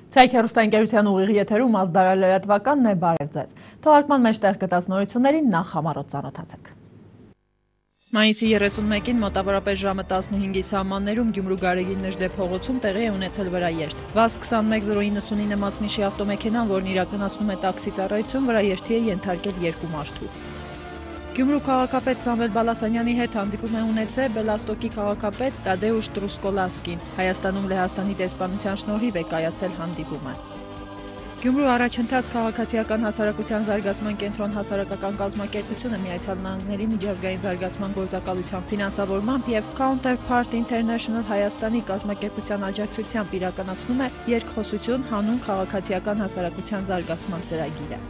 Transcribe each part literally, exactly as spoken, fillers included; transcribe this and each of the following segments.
Ցայք հեռուստաընկերության ուղիղ եթերում ազդարար լրատվականն է, բարև ձեզ։ Թողարկման մեջ տեղ գտած նորություններին նախ համառոտ ծանոթացեք։ Մայիսի երեսունմեկին մոտավորապես ժամը տասնհինգի սահմաններում Գյումրու Գարեգին Նժդե փողոցում տեղի է ունեցել վրաերթ։ վազ քսանմեկ զրո իննսունինը մակնիշի ավտոմեքենան, որն իրականացնում է տաքսի ծառայություն, վրաերթի է ենթարկել երկու մարդու։ Գյումրու քաղաքապետ Սամվել Բալասանյանի հետ հանդիպում է ունեցել Բելաստոկի քաղաքապետ Տադեուշ Տրուսկոլասկին։ Հայաստանում Լեհաստանի դեսպանության շնորհիվ է կայացել հանդիպումը։ Գյումրու առաջընթաց քաղաքացիական հասարակության զարգացման կենտրոն հասարակական կազմակերպությունը Միացյալ Նահանգների միջազգային զարգացման գործակալության ֆինանսավորմամբ եւ Counterpart International Հայաստանի կազմակերպության աջակցությամբ իրականացնում է երկխոսություն հանուն քաղաքացիական հասարակության զարգացման ծրագիրը։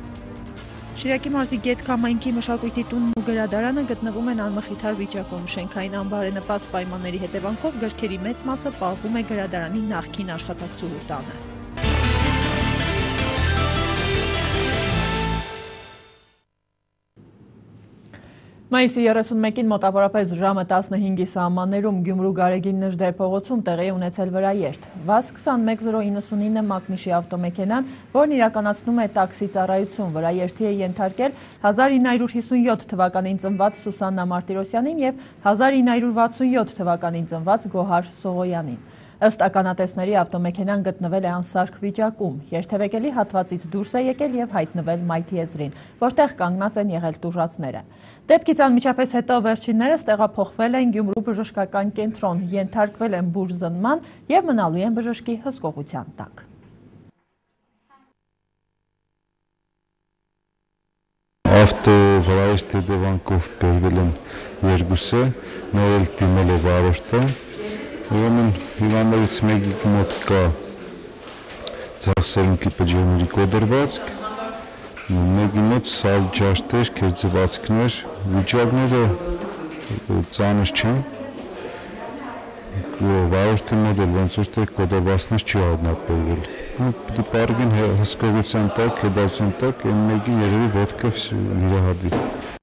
Շիրակի մարզի Գետ Քամայնքի մշակույթի տունն ու գրադարանը գտնվում են անմխիթար վիճակում։ Շենքային անբարենպաստ պայմանների հետևանքով գրքերի մեծ մասը պահվում է գրադարանի նախկին աշխատակցուհու տանը։ Մայիսի երեսունմեկին մոտավորապես ժամը տասնհինգի սահմաններում Գյումրու Գարեգին Նժդե փողոցում տեղի է ունեցել վրաերթ։ վազ քսանմեկ զրո իննսունինը մակնիշի ավտոմեքենան, որն իրականացնում է տաքսի ծառայություն, վրաերթի է ենթարկել հազար ինը հարյուր հիսունյոթ թվականին ծնված Սուսաննա Մարտիրոսյանին եւ հազար ինը հարյուր վաթսունյոթ թվականին ծնված Գոհար Սողոյանին։ Ըստ ականատեսների ավտոմեքենան գտնվել է անսարք վիճակում, երթևեկելի հատվածից դուրս է եկել եւ հայտնվել մայթի եզրին, որտեղ կանգնած են եղել տուժածները։ Դեպքից անմիջապես հետո վերջիններս տեղափոխվել են Գյումրու բժշկական կենտրոն, ենթարկվել են բուժզնման եւ մնալու են բժշկի հսկողության տակ։ Ավտովրայից հետևանքով բերվել են երկուսը, նոր էլ դիմել է վարորդը։ Ուրեմն հիվանդներից մեկի մոտ կա ձախսերունքի բջջերների կոդրվածք, մեկի մոտ սալ ջաշտեր, քերծվածքներ, վիճակները ծանր չեն, վարորդի մոտ էլ ոնց որ թե կոդրվածքներ չի հայտնաբերվել։ Պիտի պարագին հսկողության տակ, հետազոտության տակ, այն մեկի երևի ոտքը վիրահատվի։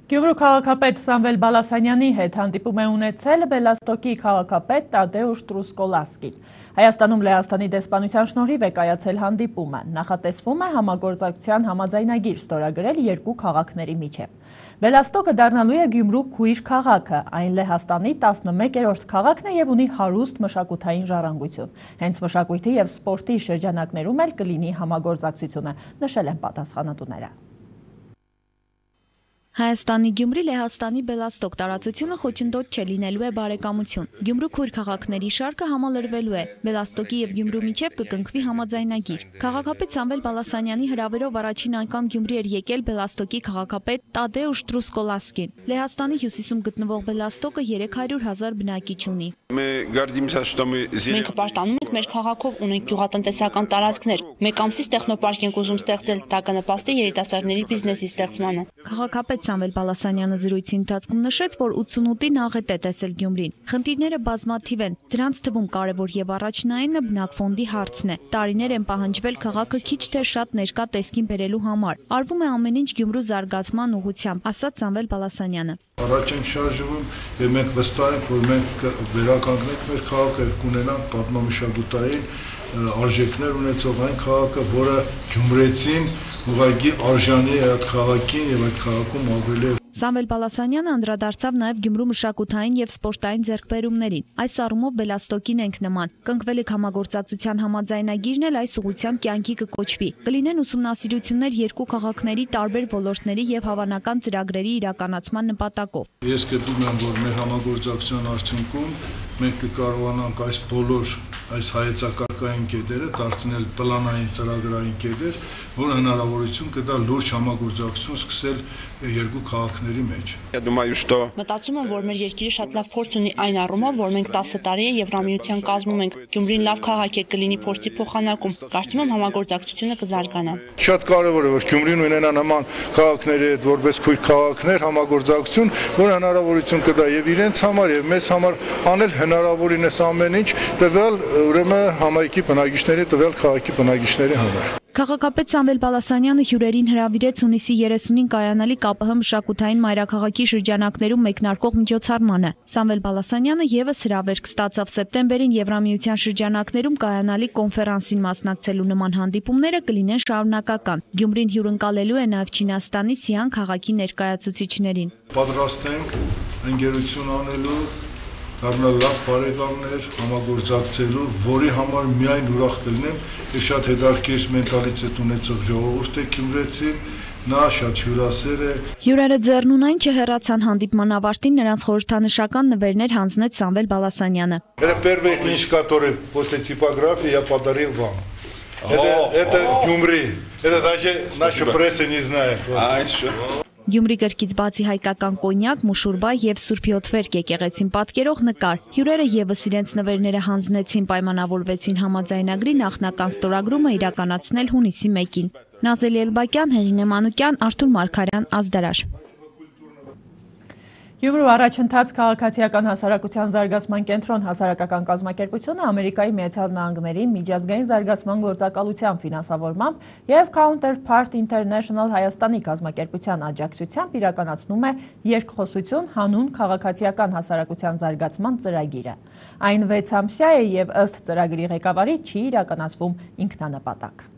Գյումրու քաղաքապետ Սամվել Բալասանյանի հետ հանդիպում է ունեցել Բելաստոկի քաղաքապետ Տադեուշ Տրուսկոլասկին։ Հայաստանում Լեհաստանի դեսպանության շնորհիվ է կայացել հանդիպումը։ Նախատեսվում է համագործակցության համաձայնագիր ստորագրել երկու քաղաքների միջև։ Բելաստոկը դառնալու է Գյումրու քույր քաղաքը, այն Լեհաստանի տասնմեկերորդ քաղաքն է եւ ունի հարուստ մշակութային ժառանգություն։ Հենց մշակույթի եւ սպորտի շրջանակներում էլ կլինի համագործակցությունը, նշել են պատասխանատուները։ Հայաստանի Գյումրի Լեհաստանի Բելաստոկ տարածությունը խոչընդոտ չէ, լինելու է բարեկամություն։ Գյումրու քույր քաղաքների շարքը համալրվելու է։ Բելաստոկի եւ Գյումրու միջև կկնքվի համաձայնագիր։ Քաղաքապետ Սամվել Բալասանյանի հրավերով առաջին անգամ Գյումրի էր եկել Բելաստոկի քաղաքապետ Տադեուշ Տրուսկոլասկին։ Լեհաստանի հյուսիսում գտնվող Բելաստոկը երեք հարյուր հազար բնակիչ ունի։ Մենք պարտանում ենք մեր քաղաքով, ունենք գյուղատնտեսական տարածքներ։ Մեկ ամսից տեխնոպարկ ենք ուզում ստեղծել, դա կնպաստի երիտասարդների բիզնեսի ստեղծմանը։ Քաղաքապետ Սամվել Բալասանյանը զրույցի ընթացքում նշեց, որ ութսունութին աղետ է տեսել Գյումրին։ Խնդիրները բազմաթիվ են, դրանց թվում կարևոր եւ առաջնայինը բնակֆոնդի հարցն է։ Տարիներ են պահանջվել քաղաքը քիչ թե շատ ներկա տեսքին բերելու համար։ Արվում է ամեն ինչ Գյումրու զարգացման ուղղությամբ, ասաց Սամվել Բալասանյանը։ Առաջ ենք շարժվում եւ մենք վստահ ենք, որ մենք վերականգնենք մեր քաղաքը եւ կունենանք պատմամշակութային արժեքներ ունեցող այն քաղաքը, որը գյումրեցին ուղղակի արժանի է այդ քաղաքին եւ այդ քաղաքում ապրել է։ Սամվել Բալասանյանը անդրադարձավ նաև Գյումրու մշակութային եւ սպորտային ձեռքբերումներին։ Այս առումով Բելաստոկին ենք նման։ Կնքվելիք համագործակցության համաձայնագիրն էլ այս ուղղությամբ կյանքի կկոչվի։ Կլինեն ուսումնասիրություններ երկու քաղաքների տարբեր ոլորտների եւ հավանական ծրագրերի իրականացման նպատակով։ Ես գտնում եմ, որ մեր համագործակցության արդյունքում մենք կկարողանանք այս բոլոր այս հայեցակարգային կետերը դարձնել պլանային ծրագրային կետեր, որը հնարավորություն կտա լուրջ համագործակցություն սկսել երկու քաղաքների մեջ։ Մտածում եմ, որ մեր երկիրը շատ լավ փորձ ունի այն առումով, որ մենք տասը տարի է Եվրամիության կազմում ենք։ Գյումրին լավ քաղաք է, կլինի փորձի փոխանակում։ Կարծում եմ համագործակցությունը կզարգանա։ Շատ կարևոր է, որ Գյումրին ունենա նման քաղաքների հետ որպես քույր քաղաքներ համագործակցություն, որ հնարավորություն կտա եւ իրենց համար եւ մեզ համար անել հնարավորինս ամեն ինչ տվյալ ուրեմն համայնքի բնակիչների տվյալ քաղաքի բնակիչների համար։ Քաղաքապետ Սամվել Բալասանյանը հյուրերին հրավիրեց հունիսի երեսունին կայանալի ԿԱՊՀ մշակութային մայրաքաղաքի շրջանակներում մեկնարկող միջոցառմանը։ Սամվել Բալասանյանը ևս հրավերք ստացավ սեպտեմբերին Եվրամիության շրջանակներում կայանալի կոնֆերանսին մասնակցելու նման հանդիպումները կլինեն շարունակական։ Գյումրին հյուրընկալելու է նաև Չինաստանի Սիան քաղաքի ներկայացուցիչներին։ Պատրաստ ենք ընկերություն անելու, դառնալ լավ բարեկամներ, համագործակցելու, որի համար միայն ուրախ կլինեմ, եւ շատ հետաքրքիր մենտալիտետ ունեցող ժողովուրդ է Գյումրեցին, նա շատ հյուրասեր է։ Հյուրերը ձեռնունայն չհեռացան հանդիպման ավարտին, նրանց խորհրդանշական նվերներ հանձնեց Սամվել Բալասանյանը։ Это первый книж, который после типографии я подарил вам. Это это Гюмри. Это даже наша пресса не знает. Գյումրի գրքից բացի հայկական կոնյակ, մուշուրբա եւ Սուրբ Յոթվերկ եկեղեցին պատկերող նկար։ Հյուրերը եւս իրենց նվերները հանձնեցին, պայմանավորվեցին համաձայնագրի նախնական ստորագրումը իրականացնել հունիսի մեկին։ Նազելի Էլբակյան, Հեղինե Մանուկյան, Արթուր Մարգարյան, Ազդարար։ Գյումրու առաջընթաց քաղաքացիական հասարակության զարգացման կենտրոն հասարակական կազմակերպությունը Ամերիկայի Միացյալ Նահանգների միջազգային զարգացման գործակալության ֆինանսավորմամբ եւ Counterpart International Հայաստանի կազմակերպության աջակցությամբ իրականացնում է երկխոսություն հանուն քաղաքացիական հասարակության զարգացման ծրագիրը։ Այն վեց ամսյա է եւ ըստ ծրագրի ղեկավարի չի իրականացվում ինքնանպատակ։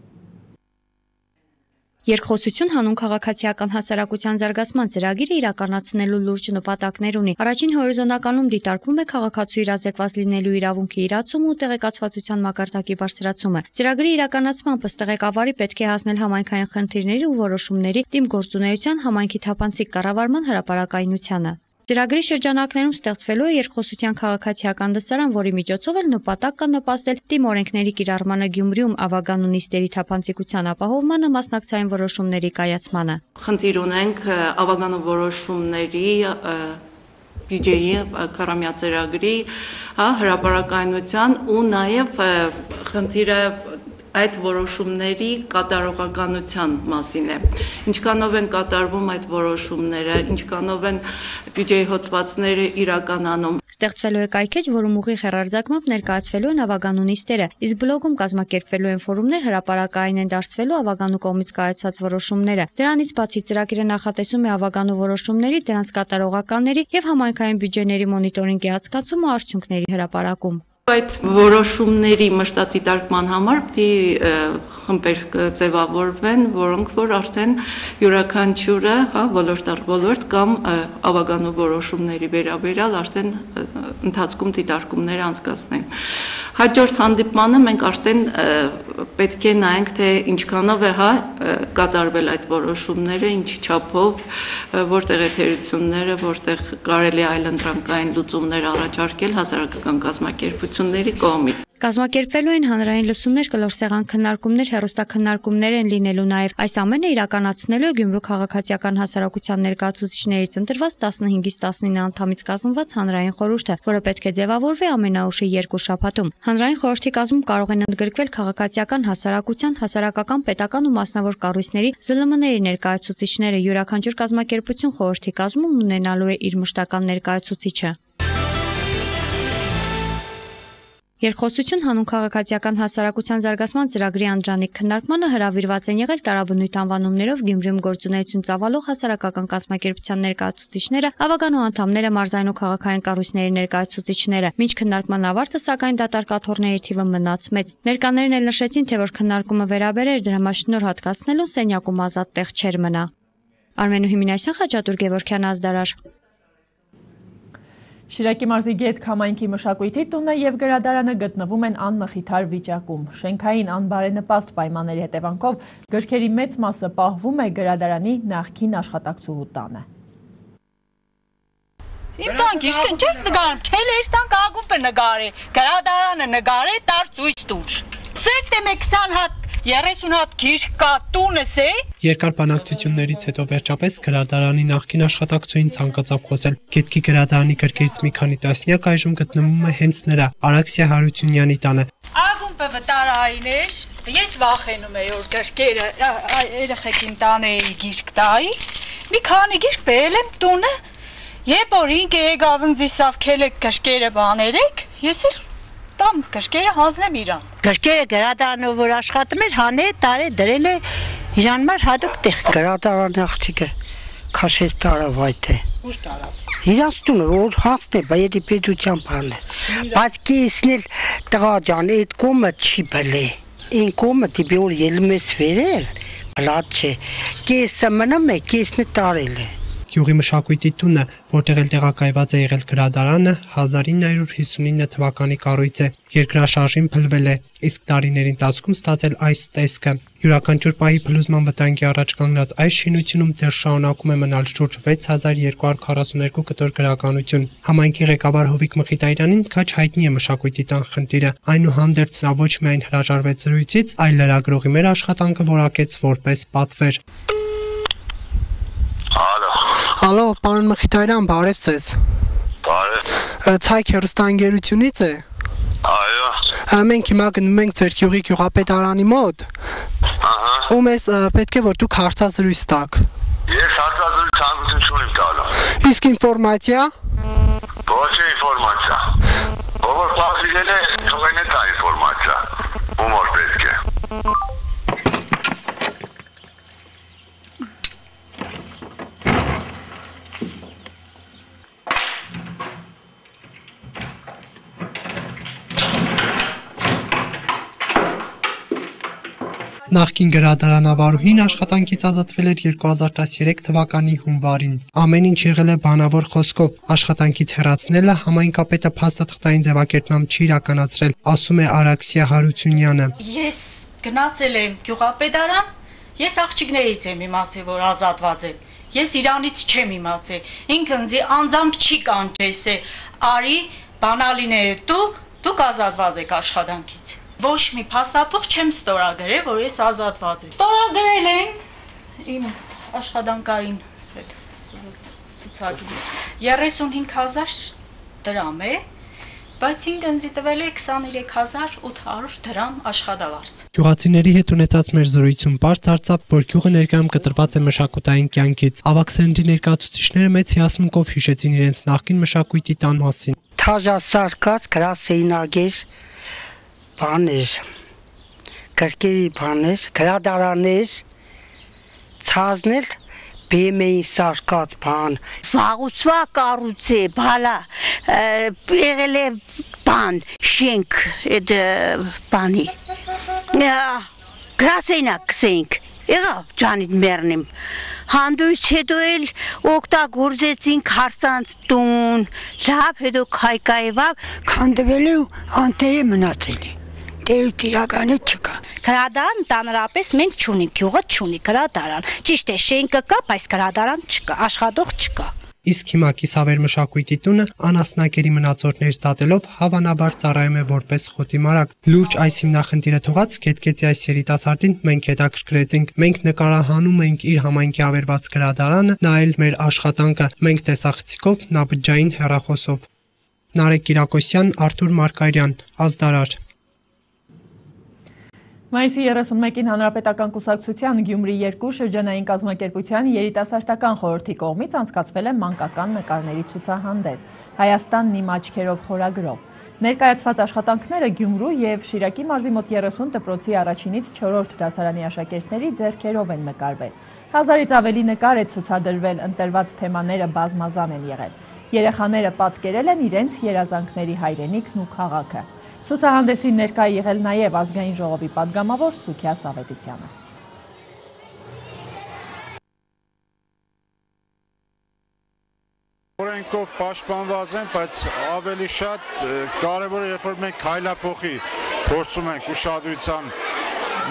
Երկխոսություն հանուն քաղաքացիական հասարակության զարգացման ծրագիրը իրականացնելու լուրջ նպատակներ ունի։ Առաջին հորիզոնականում դիտարկվում է քաղաքացու իրազեկված լինելու իրավունքի իրացումը ու տեղեկացվածության մակարդակի բարձրացումը։ Ծրագրի իրականացմամբ ըստ ղեկավարի պետք է հասնել համայնքային խնդիրների ու որոշումների դիմգործունեության համայնքի թափանցիկ կառավարման հրապարակայնությանը։ Ծրագրի շրջանակներում ստեղծվելու է երկխոսության քաղաքացիական դասարան, որի միջոցով էլ նպատակ կա նպաստել թիմօրենքների կիրառմանը Գյումրիում ավագանու նիստերի թափանցիկության ապահովմանը, մասնակցային որոշումների կայացմանը։ Խնդիր ունենք ավագանու որոշումների բյուջեի քառամյա ծրագրի հրապարակայնության ու նաև խնդիրը այդ որոշումների կատարողականության մասին է։ Ինչքանով են կատարվում այդ որոշումները, ինչքանով են բյուջեի հոդվածները իրականանում։ Ստեղծվելու է կայքեջ, որում ուղիղ հեռարձակմամբ ներկայացվելու են ավագանու նիստերը, իսկ բլոգում կազմակերպվելու են ֆորումներ, հրապարակային են դարձվելու ավագանու կողմից կայացած որոշումները։ Դրանից բացի ծրագիրը նախատեսում է ավագանու որոշումների, դրանց կատարողականների եւ համայնքային բյուջեների մոնիտորինգի հատկացում ու արդյունքների հրապարակում։ Այդ որոշումների մշտադիտարկման համար պիտի խմբեր ձևավորվեն, որոնք որ արդեն յուրաքանչյուրը, հա, ոլորտ առ ոլորտ կամ ավագանու որոշումների վերաբերյալ արդեն ընթացքում դիտարկումներ անցկացնեն։ Հաջորդ հանդիպմանը մենք արդեն պետք է նայենք, թե ինչքանով է, հա, կատարվել այդ որոշումները, ինչ չափով, որտեղ է թերությունները, որտեղ կարելի է այլընտրանքային լուծումներ առաջարկել հասարակական կազմակերպությունների կողմից։ Կազմակերպվելու են հանրային լսումներ, կլոր սեղան քննարկումներ, հեռուստաքննարկումներ են լինելու նաև։ Այս ամենը իրականացնելու է Գյումրու քաղաքացիական հասարակության ներկայացուցիչներից ընտրված տասնհինգից տասնինը անդամից կազմված հանրային խորհուրդը, որը պետք է ձևավորվի ամենաուշի երկու շաբաթում։ Հանրային խորհրդի կազմում կարող են ընդգրկվել քաղաքացիական հասարակության, հասարակական, պետական ու մասնավոր կառույցների զլ մ ների ներկայացուցիչները, յուրաքանչյուր կազմակերպություն խորհրդի կազմում ունենալու է իր մշտական ներկայացուցիչը։ Երկխոսություն հանուն քաղաքացիական հասարակության զարգացման ծրագրի անդրանիկ քննարկմանը հրավիրված են եղել տարաբնույթ անվանումներով Գյումրիում գործունեություն ծավալող հասարակական կազմակերպության ներկայացուցիչները, ավագանու անդամները, մարզային ու քաղաքային կառույցների ներկայացուցիչները։ Մինչ քննարկման ավարտը, սակայն դատարկաթողների թիվը մնաց մեծ։ Ներկաներն էլ նշեցին, թե որ քննարկումը վերաբերեր դրամաշնոր հատկացնելուն սենյակում ազատ տեղ չէր մնա։ Արմենու Հիմինասյան, Խաչատուր Գևորգյան, Ազդարար։ Շիրակի մարզի Գետք համայնքի մշակույթի տունը եւ գրադարանը գտնվում են անմխիթար վիճակում։ Շենքային անբարենպաստ պայմանների հետևանքով գրքերի մեծ մասը պահվում է գրադարանի նախկին աշխատակցուհու տանը։ Իմ տան գիրքը ինչ ես նկարում, քելերս տան կաղում է նկարի, գրադարանը նկարի, տար ցույց տուր։ Սետ եմ քսան հատ երեսուն հատ գիրք կա տունս է։ Երկար բանակցություններից հետո վերջապես գրադարանի նախկին աշխատակցուհին ցանկացավ խոսել։ Գետքի գրադարանի գրքերից մի քանի տասնյակ այժմ գտնվում է հենց նրա Արաքսիա Հարությունյանի տանը։ Ագումբը վտարայիներ, ես վախենում եի որ գրքերը երեխեքին տանեի գիրք տայի։ Մի քանի գիրք բերել եմ տունը, երբ որ ինքը եկավ ինձ իսավ քելեք գրքերը բաներեք, ես էլ տամ կրկերը հանձնեմ իրան։ Կրկերը գրադարանը որ աշխատում էր, հանե տարե դրել է իրան մար հատուկ տեղ։ Գրադարանի աղջիկը քաշեց տարավ այդ է։ Ուշ տարավ։ Իրաց տունը որ հանցն է, բայց պետության բան է։ Բայց կեսն էլ տղա ջան, այդ կոմը չի բլե։ Այն կոմը դիբի որ ելում ես վերև, բլադ չէ։ Կեսը մնում է, կեսն է տարել է։ Գյուղի մշակույթի տունը, որտեղ էլ տեղակայված է եղել գրադարանը, հազար ինը հարյուր հիսունինը թվականի կառույց է, երկրաշարժին փլվել է, իսկ դարիների ընթացքում ստացել այս տեսքը։ Յուրաքանչյուր պահի փլուզման վտանգի առաջ կանգնած այս շինությունում դեռ շարունակում է մնալ շուրջ վեց հազար երկու հարյուր քառասուններկու կտոր գրականություն։ Համայնքի ղեկավար Հովիկ Մխիտարյանին քաչ հայտնի է մշակույթի տան խնդիրը, այնուհանդերձ նա ոչ միայն հրաժարվեց զրույցից, այլ լրագրողի մեր աշխատանքը որակեց որպես պատվեր։ Ալո, պարոն Մխիտարյան, բարև ձեզ։ Բարև։ Ցայք հեռուստաընկերությունից է։ Այո։ Մենք հիմա գնում ենք ձեր գյուղի գյուղապետարանի մոտ։ Ահա։ Ու մեզ պետք է որ դուք հարցազրույց տաք։ Ես հարցազրույց ցանկություն չունեմ տալու։ Իսկ ինֆորմացիա։ Ոչ ինֆորմացիա։ Ով փոխինել է, թողնեն է տա ինֆորմացիա։ Ումոր պետք է։ Նախկին գրադարանավարուհին աշխատանքից ազատվել էր երկու հազար տասներեք թվականի հունվարին։ Ամեն ինչ եղել է բանավոր խոսքով, աշխատանքից հեռացնելը համայնքապետը փաստաթղթային ձևակերպմամբ չի իրականացրել, ասում է Արաքսիա Հարությունյանը։ Ես գնացել եմ գյուղապետարան, ես աղջիկներից եմ իմացել, որ ազատված եմ։ Ես իրանից չեմ իմացել։ Ինքը ինձ անձամբ չի կանչես է, արի բանալին է դու, դուք ազատված եք աշխատանքից։ Ոչ մի փաստաթուղթ չեմ ստորագրել, որ ես ազատված եմ։ Ստորագրել են իմ աշխատանքային այդ ցուցակի երեսունհինգ հազար դրամ է, բայց ինձ ինձ տվել է քսաներեք հազար ութ հարյուր դրամ աշխատավարձ։ Գյուղացիների հետ ունեցած մեր զրույցում պարզ դարձավ, որ գյուղը ներկայում կտրված է մշակութային կյանքից։ Ավաքսենտի ներկայացուցիչները մեծ հիասմունքով հիշեցին իրենց նախկին մշակույթի տան մասին։ Թաժասարկած գրասենագեր բաներ, կրկերի բաներ, գրադարաներ, ցազներ, բեմեի սարկած բան, վաղուցվա կառույց է, բալա, եղել է բան, շենք, այդ բանի, գրասենակ կսենք, եղավ ջանիտ մերնիմ, հանդուրից հետո էլ օգտագործեցինք հարցանց տուն, լավ հետո քայքայվավ, քանդվել է ու անտերը մնացել է։ Դեր իրականը չկա։ Գրադարան տանրապես մենք չունենք, գյուղը չունի գրադարան։ Ճիշտ է, շենքը կա, բայց գրադարան չկա, աշխատող չկա։ Իսկ հիմա Կիսավեր մշակույթի տունը անասնակերի մնացորդներից դատելով հավանաբար ծառայում է որպես խոտի մարակ։ Լուրջ այս հիմնախնդիրը թողած Գետկեցի այս երիտասարդին մենք հետաքրքրեցինք։ Մենք նկարահանում ենք իր համայնքի ավերված գրադարանը, նա էլ մեր աշխատանքը։ Մենք տեսախցիկով, նաբջջային հեռախոսով։ Նարեկ Կիրակոսյան, Արթուր Մարկարյան, Ազդարար։ Մայիսի երեսունմեկին Հանրապետական կուսակցության Գյումրի երկու շրջանային կազմակերպության երիտասարդական խորհրդի կողմից անցկացվել է մանկական նկարների ցուցահանդես Հայաստանն իմ աչքերով խորագրով։ Ներկայացված աշխատանքները Գյումրու եւ Շիրակի մարզի մոտ երեսուն դպրոցի առաջինից չորրորդ դասարանի աշակերտների ձեռքերով են նկարվել։ Հազարից ավելի նկար է ցուցադրվել, ընտրված թեմաները բազմազան են եղել։ Երեխաները պատկերել են իրենց երազանքների հայրենիքն ու քաղաքը։ Ցուցահանդեսին ներկա եղել նաև ազգային ժողովի պատգամավոր Սուքիա Սավետիսյանը։ Օրենքով պաշտպանված են, բայց ավելի շատ կարևոր է, երբ որ մենք քայլափոխի փորձում ենք ուշադրության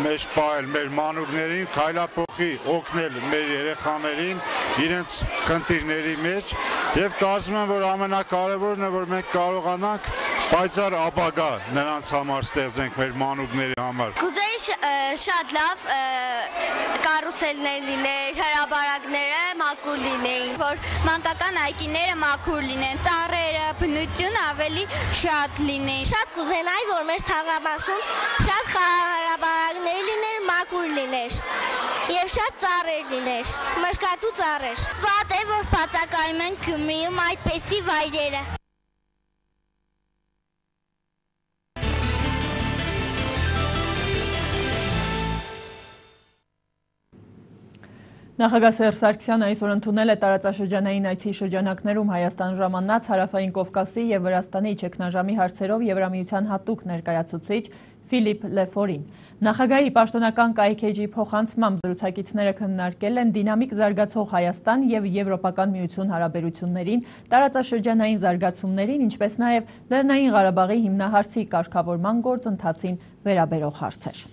մեջ պահել մեր մանուկներին, քայլափոխի օգնել մեր երեխաներին իրենց խնդիրների մեջ եւ կարծում եմ, որ ամենակարևորն է, որ մենք կարողանանք պայծառ ապագա նրանց համար ստեղծենք մեր մանուկների համար։ Կուզեի շատ լավ կարուսելներ լիներ, հրաբարակները մաքուր լինեին, որ մանկական այգիները մաքուր լինեն, ծառերը, բնություն ավելի շատ լինեն։ Շատ կուզենայի, որ մեր թաղամասում շատ հրաբարակներ լիներ, մաքուր լիներ եւ շատ ծառեր լիներ, մշկատու ծառեր։ Վատ է, որ բացակայում են Գյումրիում այդպիսի վայրերը։ Նախագահ Սերժ Սարգսյանը այսօր ընդունել է տարածաշրջանային այցի շրջանակներում Հայաստան ժամանած Հարավային Կովկասի և Վրաստանի ճգնաժամի հարցերով Եվրամիության հատուկ ներկայացուցիչ Ֆիլիպ Լեֆորին։ Նախագահի պաշտոնական կայքէջի փոխանցմամբ զրուցակիցները քննարկել են դինամիկ զարգացող Հայաստան և Եվրոպական միություն հարաբերություններին, տարածաշրջանային զարգացումներին, ինչպես նաև Լեռնային Ղարաբաղի հիմնահարցի կարգավորման գործընթացին վերաբերող հարցեր։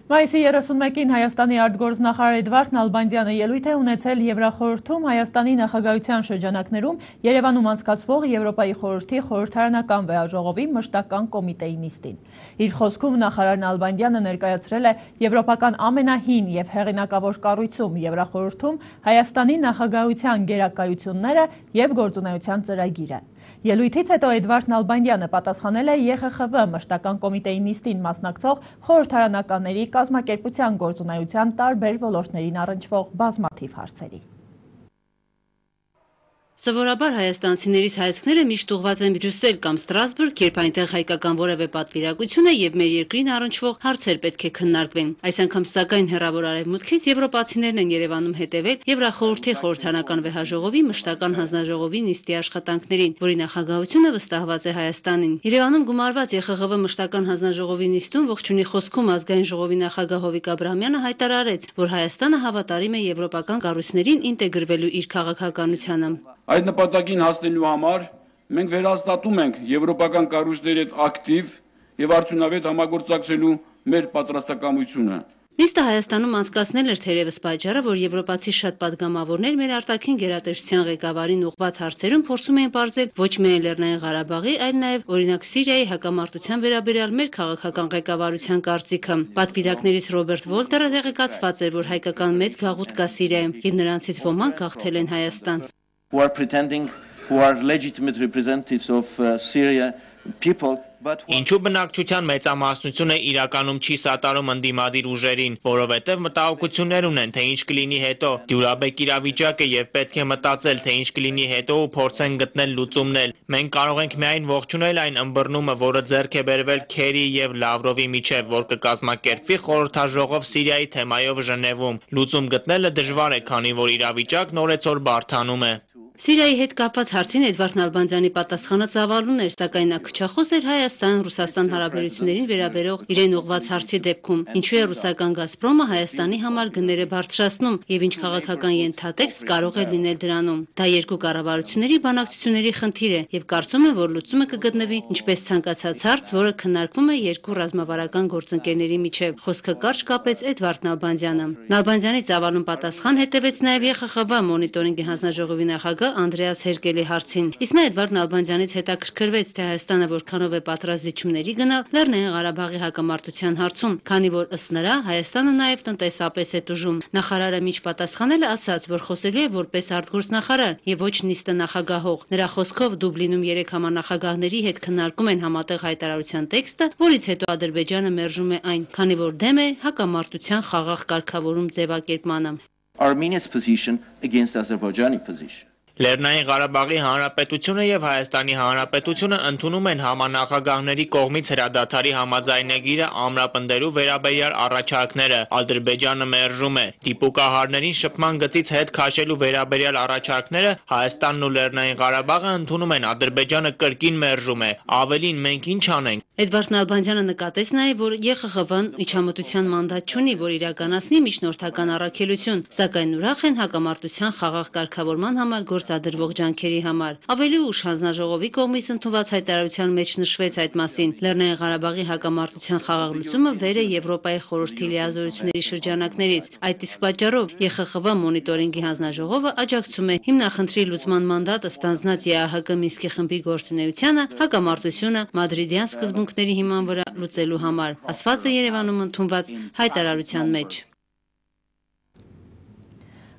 Մայիսի երեսունմեկին Հայաստանի արտգործնախարար Էդվարդ Նալբանդյանը ելույթ է ունեցել Եվրախորհրդում Հայաստանի նախագահության շրջանակներում Երևանում անցկացվող Եվրոպայի խորհրդի խորհրդարանական վեհաժողովի մշտական կոմիտեի նիստին։ Իր խոսքում նախարար Նալբանդյանը ներկայացրել է եվրոպական ամենահին և հեղինակավոր կառույցում Եվրախորհրդում Հայաստանի նախագահության գերակայությունները և գործունեության ծրագիրը։ Ելույթից հետո Էդվարդ Նալբանդյանը պատասխանել է Ե Խ Խ V մշտական կոմիտեի նիստին մասնակցող խորհրդարանականների կազմակերպության գործունեության տարբեր ոլորտներին առնչվող բազմաթիվ հարցերի։ Սովորաբար հայաստանցիներիս հայացքները միշտ ուղղված են Բրյուսել կամ Ստրասբուրգ, երբ այնտեղ հայկական որևէ պատվիրակություն է եւ մեր երկրին առնչվող հարցեր պետք է քննարկվեն։ Այս անգամ սակայն հեռավոր արևմուտքից եվրոպացիներն են Երևանում հետևել Եվրախորհրդի խորհրդարանական վեհաժողովի մշտական հանձնաժողովի նիստի աշխատանքներին, որի նախագահությունը վստահված է Հայաստանին։ Երևանում գումարված Ե Խ Խ V մշտական հանձնաժողովի նիստում ողջունի խոսքում ազգային ժողովի նախագահ Հովիկ Աբրահամյանը հայտարարեց, որ Հայաստանը հավատարիմ է եվրոպական կառույցներին ինտեգրվելու իր քաղաքականությանը։ Այդ նպատակին հասնելու համար մենք վերահաստատում ենք եվրոպական կառույցների հետ ակտիվ եւ արդյունավետ համագործակցելու մեր պատրաստակամությունը։ Նիստը Հայաստանում անցկացնել էր թերևս պատճառը, որ եվրոպացի շատ պատգամավորներ մեր արտաքին գերատեսչության ղեկավարին ուղղված հարցերում փորձում էին բարձել ոչ միայն Լեռնային Ղարաբաղի, այլ նաև օրինակ Սիրիայի հակամարտության վերաբերյալ մեր քաղաքական ղեկավարության կարծիքը։ Պատվիրակներից Ռոբերտ Վոլտերը տեղեկացված էր, որ հայկական մեծ գաղութ կա Սիրիայում, եւ նրանցից ոմանք գաղթել են Հայաստան։ Who are pretending, who are legitimate representatives of uh, Syria people. Ինչու բնակչության մեծամասնությունը իրականում չի սատարում ընդդիմադիր ուժերին, որովհետև մտահոգություններ ունեն, թե ինչ կլինի հետո, դյուրաբեկ իրավիճակ է եւ պետք է մտածել, թե ինչ կլինի հետո ու փորձեն գտնել լուծումներ։ Մենք կարող ենք միայն ողջունել այն ըմբռնումը, որը ձեռք է բերվել Քերի եւ Լավրովի միջև, որ կկազմակերպվի խորհրդաժողով Սիրիայի թեմայով Ժնևում։ Լուծում գտնելը դժվար է, քանի որ իրավիճակն օրեցօր բարդանում է։ Սիրիայի հետ կապված հարցին Էդվարդ Նալբանդյանի պատասխանը ծավալուն էր, սակայն նա քչախոս էր Հայաստան-Ռուսաստան հարաբերություններին վերաբերող իրեն ուղղված հարցի դեպքում, ինչու է ռուսական Գազպրոմը Հայաստանի համար գները բարձրացնում եւ ինչ քաղաքական ենթատեքստ կարող է լինել դրանում։ Դա երկու կառավարությունների բանակցությունների խնդիր է եւ կարծում եմ, որ լուծումը կգտնվի ինչպես ցանկացած հարց, որը քննարկվում է երկու ռազմավարական գործընկերների միջև։ Խոսքը կարճ կապեց Էդվարդ Նալբանդյանը։ Նալբանդյանի ծավալուն պատասխան հետևեց նաեւ Ե Խ Խ V մոնիտորինգի հանձնաժողովի նախագահ Անդրեաս Հերկելի հարցին։ Իսկ նա Էդվարդ Նալբանդյանից հետաքրքրվեց, թե Հայաստանը որքանով է պատրաստ զիջումների գնալ Լեռնային Ղարաբաղի հակամարտության հարցում, քանի որ ըստ նրա Հայաստանը նաև տնտեսապես է տուժում։ Նախարարը միջ պատասխանել է ասաց, որ խոսելու է որպես արտգործնախարար եւ ոչ նիստը նախագահող։ Նրա խոսքով Դուբլինում երեք համանախագահների հետ քննարկում են համատեղ հայտարարության տեքստը, որից հետո Ադրբեջանը մերժում է այն, քանի որ դեմ է հակամարտության խաղաղ կարգավորում ձևակերպմանը։ Armenia's position against Azerbaijani position. Լեռնային Ղարաբաղի Հանրապետությունը եւ Հայաստանի Հանրապետությունը ընդունում են համանախագահների կողմից հրադադարի համաձայնագիրը ամրապնդելու վերաբերյալ առաջարկները։ Ադրբեջանը մերժում է։ Դիպուկահարներին շփման գծից հետ քաշելու վերաբերյալ առաջարկները Հայաստանն ու Լեռնային Ղարաբաղը ընդունում են, Ադրբեջանը կրկին մերժում է։ Ավելին, մենք ինչ անենք։ Էդվարդ Նալբանդյանը նկատեց նաև, որ Ե Խ Խ V-ն միջամտության մանդատ չունի, որ իրականացնի միջնորդական առաքելություն, սակայն ուրախ են հակամարտության խաղաղ կարգավորման համար գործադրվող ջանքերի համար։ Ավելի ուշ հանձնաժողովի կողմից ընդունված հայտարարության մեջ նշվեց այդ մասին։ Լեռնային Ղարաբաղի հակամարտության խաղաղ լուծումը վեր է Եվրոպայի խորհրդի լիազորությունների շրջանակներից։ Այդ իսկ պատճառով Ե Խ Խ V մոնիտորինգի հանձնաժողովը աջակցում է հիմնախնդրի լուծման մանդատը ստանձնած Ե Ա Հ Կ Մինսկի խմբի գործունեությանը հակամարտությունը մադրիդյան սկզբունքների հիման վրա լուծելու համար, ասված է Երևանում ընդունված հայտարարության մեջ։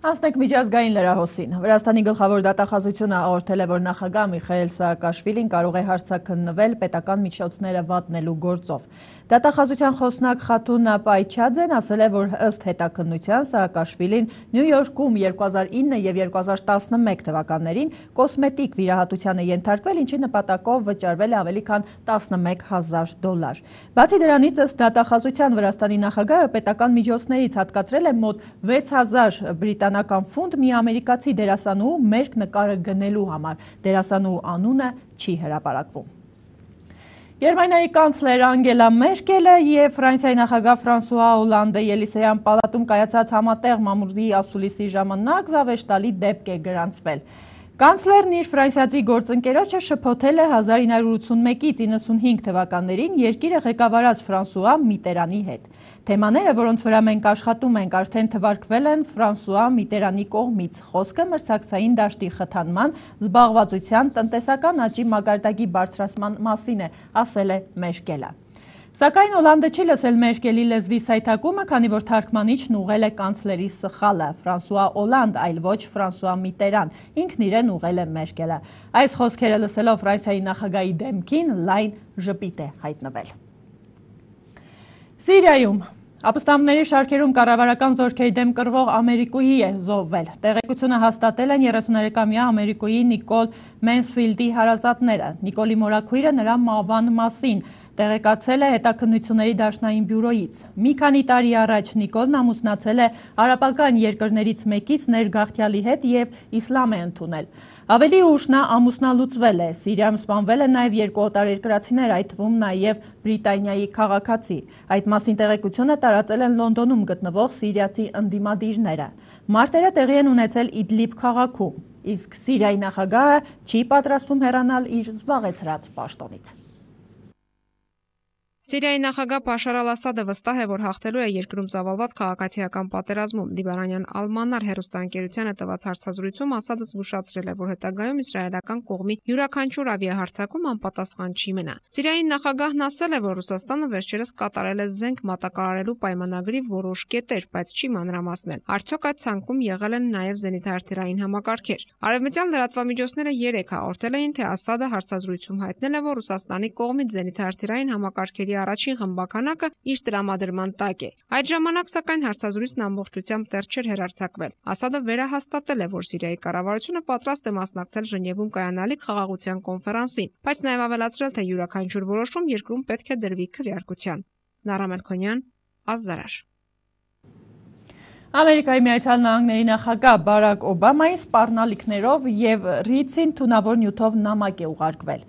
Անցնենք միջազգային լրահոսին։ Վրաստանի գլխավոր դատախազությունը հաղորդել է, որ նախագահ Միխայել Սաակաշվիլին կարող է հարցաքննվել պետական միջոցները վատնելու գործով։ Դատախազության խոսնակ Խաթուն Պայչաձեն ասել է, որ ըստ հետաքննության Սաակաշվիլին Նյու Յորքում երկու հազար ինը եւ երկու հազար տասնմեկ թվականներին կոսմետիկ վիրահատության է ենթարկվել, ինչի նպատակով վճարվել է ավելի քան տասնմեկ հազար դոլար։ Բացի դրանից, ըստ դատախազության Վրաստանի նախագահը պետական միջոցներից հատկացրել է մոտ վեց հազար բրիտանական ֆունտ մի ամերիկացի դերասանուհու մերկ նկարը գնելու համար։ Դերասանուհու անունը չի հրապարակվում։ Գերմանիայի կանցլեր Անգելա Մերկելը և Ֆրանսիայի նախագահ Ֆրանսուଆ Օլանդը Ելիսեյան պալատում կայացած համատեղ մամուլի ասուլիսի ժամանակ զավեշտալի դեպք է գրանցվել։ Կանցլերն իր ֆրանսիացի գործընկերոջը շփոթել է հազար ինը հարյուր ութսունմեկից իննսունհինգ թվականներին երկիրը ղեկավարած Ֆրանսուଆ Միտերանի հետ։ Թեմաները, որոնց վրա մենք աշխատում ենք, արդեն թվարկվել են Ֆրանսուଆ Միտերանի կողմից։ Խոսքը մրցակցային դաշտի խթանման, զբաղվածության, տնտեսական աճի մակարդակի բարձրացման մասին է, ասել է Մերկելը։ Սակայն Օլանդը չի լսել Մերկելի լեզվի սայթակումը, քանի որ թարգմանիչն ուղղել է կանցլերի սխալը՝ Ֆրանսուଆ Օլանդ, այլ ոչ Ֆրանսուଆ Միտերան, ինքն իրեն ուղղել է Մերկելը։ Այս խոսքերը լսելով Ֆրանսիայի նախագահի դեմքին լայն ժպիտ է հայտնվել։ Սիրիայում ապստամբների շարքերում կառավարական զորքերի դեմ կռվող ամերիկուհի է զոհվել։ Տեղեկությունը հաստատել են երեսուներեքամյա ամերիկուհի Նիկոլ Մենսֆիլդի հարազատները։ Նիկոլի մորաքույրը նրա մահվան մասին տեղեկացել է հետաքննությունների դաշնային բյուրոյից։ Մի քանի տարի առաջ Նիկոլն ամուսնացել է արաբական երկրներից մեկից ներգաղթյալի հետ և իսլամ է ընդունել։ Ավելի ուշ նա ամուսնալուծվել է։ Սիրիայում սպանվել են նաև երկու օտարերկրացիներ, այդ թվում նաև Բրիտանիայի քաղաքացի։ Այդ մասին տեղեկությունը տարածել են Լոնդոնում գտնվող սիրիացի ընդդիմադիրները։ Մարտերը տեղի են ունեցել Իդլիբ քաղաքում, իսկ Սիրիայի նախագահը չի պատրաստվում հեռանալ իր զբաղեցրած պաշտոնից։ Սիրիայի նախագահ Բաշար Ալ-Ասադը վստահ է, որ հաղթելու է երկրում ծավալված քաղաքացիական պատերազմում։ Լիբանանյան Ալ-Մանար հեռուստաընկերությանը տված հարցազրույցում Ասադը զգուշացրել է, որ հետագայում իսրայելական կողմի յուրաքանչյուր ավիահարձակում անպատասխան չի մնա։ Սիրիայի նախագահն ասել է, որ Ռուսաստանը վերջերս կատարել է զենք մատակարարելու պայմանագրի որոշ կետեր, բայց չի մանրամասնել։ Արդյոք այդ ցանկում եղել են նաև զենիթահրթիռային համակարգեր։ Արևմտյան լրատվամիջոցները երեկ հաղորդել էին, թե Ասադը հարցազրույցում հայտնել է, որ Ռուսաստանի կողմից զենիթահրթիռային համակարգերի առաջին խմբականակը իր տրամադրման տակ է։ Այդ ժամանակ սակայն հարցազրույցն ամբողջությամբ դեռ չէր հեռարձակվել։ Ասադը վերահաստատել է, որ Սիրիայի կառավարությունը պատրաստ է մասնակցել Ժնևում կայանալիք խաղաղության կոնֆերանսին, բայց նաև ավելացրել, թե յուրաքանչյուր որոշում երկրում պետք է դրվի քվեարկության։ Նարամ Էլ-Քոնյան, Ազդարար։ Ամերիկայի Միացյալ Նահանգների նախագահ Բարակ Օբամային սպառնալիքներով և ռիցին թունավոր նյութով նամակ է ուղարկվել։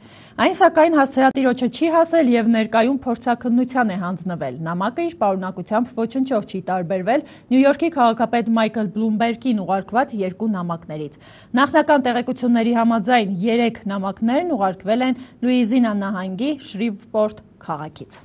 Այն սակայն հասցեատիրոջը չի հասել և ներկայում փորձաքննության է հանձնվել։ Նամակը իր պարունակությամբ ոչնչով չի տարբերվել Նյու Յորքի քաղաքապետ Մայքլ Բլումբերգին ուղարկված երկու նամակներից։ Նախնական տեղեկությունների համաձայն երեք նամակներն ուղարկվել են Լուիզիանա նահանգի Շրիվպորտ քաղաքից։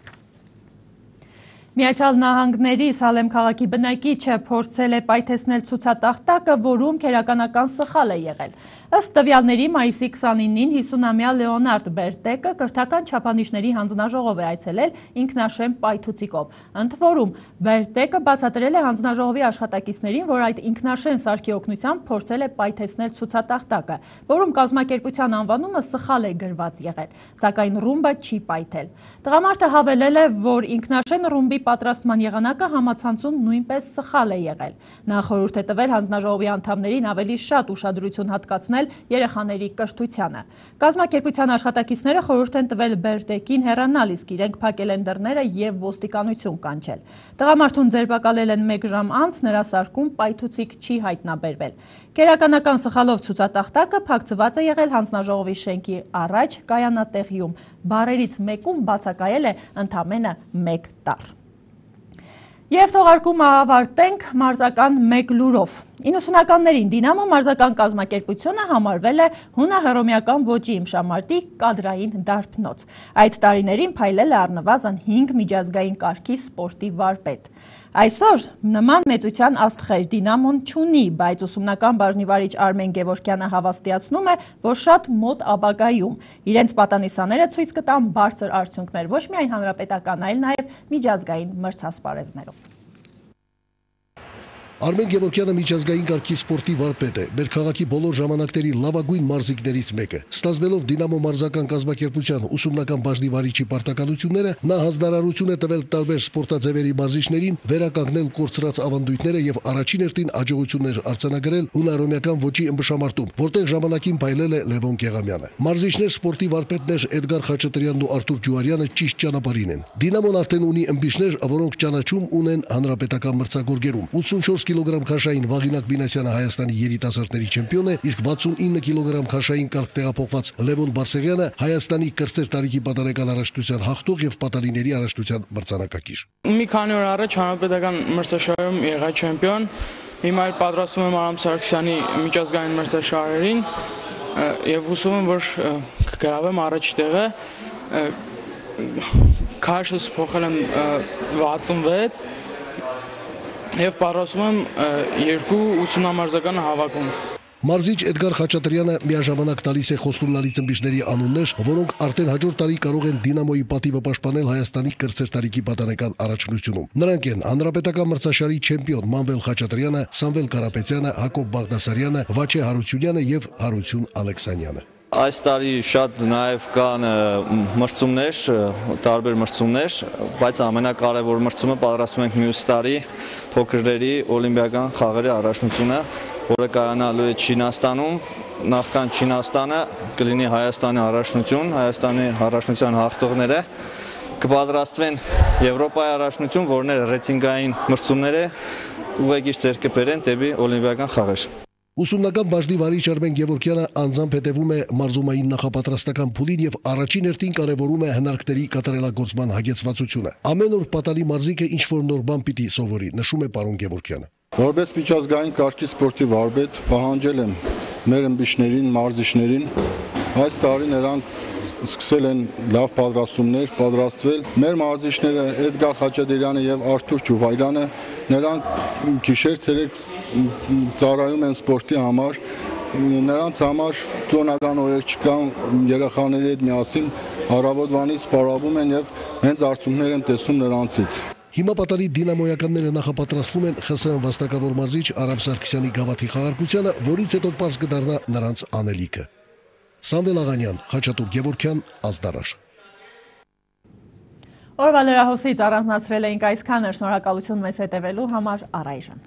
Միացյալ Նահանգների Սալեմ քաղաքի բնակիչը փորձել է պայթեցնել ցուցատախտակը, որում քերականական սխալ է եղել։ Ըստ տվյալների մայիսի քսանինին հիսունամյա Լեոնարդ Բերտեկը կրթական չափանիշների հանձնաժողով է այցելել ինքնաշեն պայթուցիկով։ Ընդ որում, Բերտեկը բացատրել է հանձնաժողովի աշխատակիցներին, որ այդ ինքնաշեն սարքի օգնությամբ փորձել է պայթեցնել ցուցատախտակը, որում կազմակերպության անվանումը սխալ է գրված եղել, սակայն ռումբը չի պայթել։ Տղամարդը հավելել է, որ ինքնաշեն ռումբի պատրաստման եղանակը համացանցում նույնպես սխալ է եղել։ Նա խորհուրդ է տվել հանձնաժողովի անդամներին ավելի շատ ուշադրություն հատկացնել երեխաների կրթությանը։ Կազմակերպության աշխատակիցները խորհուրդ են տվել Բերտեկին հեռանալ, իսկ իրենք փակել են դռները և ոստիկանություն կանչել։ Տղամարդուն ձերբակալել են մեկ ժամ անց, նրա սարքում պայթուցիկ չի հայտնաբերվել։ Քերականական սխալով ցուցատախտակը փակցված է եղել հանձնաժողովի շենքի առաջ կայանատեղիում։ Բարերից մեկում բացակայել է ընդամենը մեկ տառ։ Եվ թողարկումը ավարտենք մարզական մեկ լուրով։ իննսունականներին Դինամո մարզական կազմակերպությունը համարվել է հունահռոմեական ոճի իմշամարտի կադրային դարբնոց։ Այդ տարիներին փայլել է առնվազն հինգ միջազգային կարգի սպորտի վարպետ։ Այսօր նման մեծության աստղեր Դինամոն չունի, բայց ուսումնական բաժնիվարիչ Արմեն Գևորգյանը հավաստիացնում է, որ շատ մոտ ապագայում իրենց պատանիսաները ցույց կտան բարձր արդյունքներ ոչ միայն հանրապետական, այլ նաև միջազգային մրցասպարեզներում։ Արմեն Գևորգյանը միջազգային կարգի սպորտի վարպետ է, մեր քաղաքի բոլոր ժամանակների լավագույն մարզիկներից մեկը։ Ստանձնելով Դինամո մարզական կազմակերպության ուսումնական բաժնի վարիչի պարտականությունները, նա հանձնարարություն է տվել տարբեր սպորտաձևերի մարզիչներին վերականգնել կորցրած ավանդույթները եւ առաջին հերթին աջակցություններ արձանագրել հունարոմեական ոճի ըմբշամարտում, որտեղ ժամանակին փայլել է Լևոն Կեղամյանը։ Մարզիչներ սպորտի վարպետներ Էդգար Խաչատրյանն ու Արթուր Ջուարյանը ճիշտ ճանապարհին են։ Դինամոն արդեն ունի ըմբիշներ, որոնք ճանաչում ունեն հանրապետական մրցակցորգերում։ ութսունչորս կիլոգրամ քաշային Վաղինակ Մինասյանը Հայաստանի երիտասարդների չեմպիոն է, իսկ վաթսունինը կիլոգրամ քաշային կարգ տեղափոխված Լևոն Բարսեղյանը Հայաստանի կրտսեր տարիքի պատանեկան առաջնության հաղթող եւ պատալիների առաջնության մրցանակակիր։ Մի քանի օր առաջ հանրապետական մրցաշարերում եղա չեմպիոն, հիմա էլ պատրաստվում եմ Արամ Սարգսյանի միջազգային մրցաշարերին եւ հուսում եմ, որ կգրավեմ առաջ տեղը։ Քաշս փոխել եմ վաթսունվեց եւ պատրաստում եմ երկու ութսունամարզական հավաքում։ Մարզիչ Էդգար Խաչատրյանը միաժամանակ տալիս է խոստումնալի ծնբիշների անուններ, որոնք արդեն հաջորդ տարի կարող են Դինամոյի պատիվը պաշտպանել Հայաստանի կրտսեր տարիքի պատանեկան առաջնությունում։ Նրանք են հանրապետական մրցաշարի չեմպիոն Մանվել Խաչատրյանը, Սամվել Կարապետյանը, Հակոբ Բաղդասարյանը, Վաչե Հարությունյանը եւ Հարություն Ալեքսանյանը։ Այս տարի շատ նաև կան մրցումներ, տարբեր մրցումներ, բայց ամենակարևոր մրցումը պատրաստում ենք մյուս տարի փոքրերի օլիմպիական խաղերի առաջնությունը, որը կայանալու է Չինաստանում, նախքան Չինաստանը կլինի Հայաստանի առաջնություն, Հայաստանի առաջնության հաղթողները կպատրաստվեն Եվրոպայի առաջնություն, որն է ռեյտինգային մրցումներ է, ուղեգիր ձեռք կբերեն դեպի օլիմպիական խաղեր։ Ուսումնական բաժնի վարիչ Արմեն Գևորգյանը անձամբ հետևում է մարզումային նախապատրաստական փուլին եւ առաջին հերթին կարևորում է հնարքների կատարելագործման հագեցվածությունը։ Ամեն օր պատալի մարզիկը ինչ-որ նոր բան պիտի սովորի, նշում է պարոն Գևորգյանը։ Որպես միջազգային կարգի սպորտի վարպետ պահանջել եմ մեր ըմբիշներին, մարզիչներին այս տարի նրանք սկսել են լավ պատրաստումներ պատրաստվել։ Մեր մարզիչները Էդգար Խաչատրյանը եւ Արթուր Ջուվայրյանը նրանք գիշեր-ցերեկ ծառայում են սպորտի համար, նրանց համար տոնական օրեր չկան, երեխաների հետ միասին առավոտվանից սպառվում են եւ հենց արդյունքներ են տեսնում նրանցից։ Հիմա պատալի դինամոյականները նախապատրաստվում են ԽՍՀՄ վաստակավոր մարզիչ Արամ Սարգսյանի գավաթի խաղարկությանը, որից հետո պարզ կդառնա նրանց անելիքը։ Սամվել Աղանյան, Խաչատուր Գևորգյան, Ազդարաշ։ Օրվա լրահոսից առանձնացրել էինք այսքանը, շնորհակալություն մեզ հետևելու համար, առայժմ։